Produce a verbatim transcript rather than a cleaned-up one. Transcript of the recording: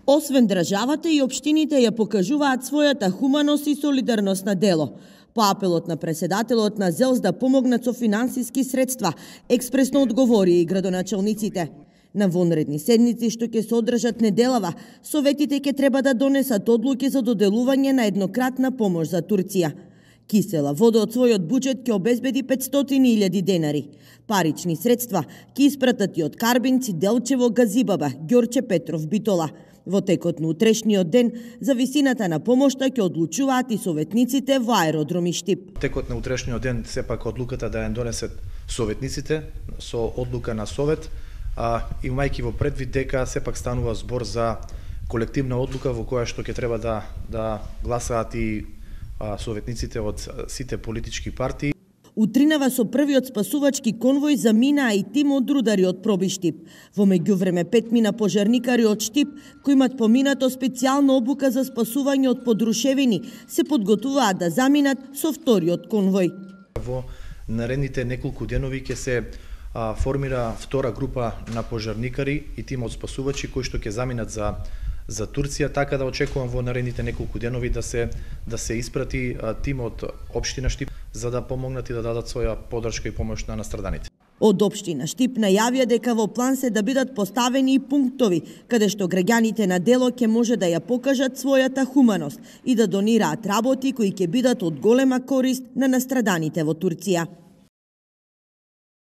Освен државата и општините ја покажуваат својата хуманост и солидарност на дело. По апелот на преседателот на ЗЕЛС да помогнат со финансиски средства, експресно одговори и градоначалниците. На вонредни седници што ќе се одржат неделава, советите ќе треба да донесат одлуки за доделување на еднократна помош за Турција. Кисела вода од својот буџет ќе обезбеди петстотини илјади денари. Парични средства ќе испратат и од Карбинци, Делчево, Газибаба, Ѓорче Петров, Битола. Во текот на утрешниот ден, за висината на помошта ќе одлучуваат и советниците во аеродром и Штип. Текот на утрешниот ден сепак одлуката да ја донесат советниците со одлука на совет, а имајќи во предвид дека сепак станува збор за колективна одлука во која што ќе треба да да гласаат и а, советниците од сите политички партии. Утринава со првиот спасувачки конвој заминаа и тим од рудари од Проби Штип. Во меѓувреме петмина пожарникари од Штип, кои имат поминато специјална обука за спасување од подрушевини, се подготвуваат да заминат со вториот конвој. Во наредните неколку денови ќе се а, формира втора група на пожарникари и тим од спасувачи кои што ќе заминат за за Турција, така да очекувам во наредните неколку денови да се да се испрати а, тим од општина Штип за да помогнат и да дадат своја поддршка и помош на настраданите. Од општина Штип најавија дека во план се да бидат поставени и пунктови каде што граѓаните на дело ќе може да ја покажат својата хуманост и да донираат работи кои ќе бидат од голема корист на настраданите во Турција.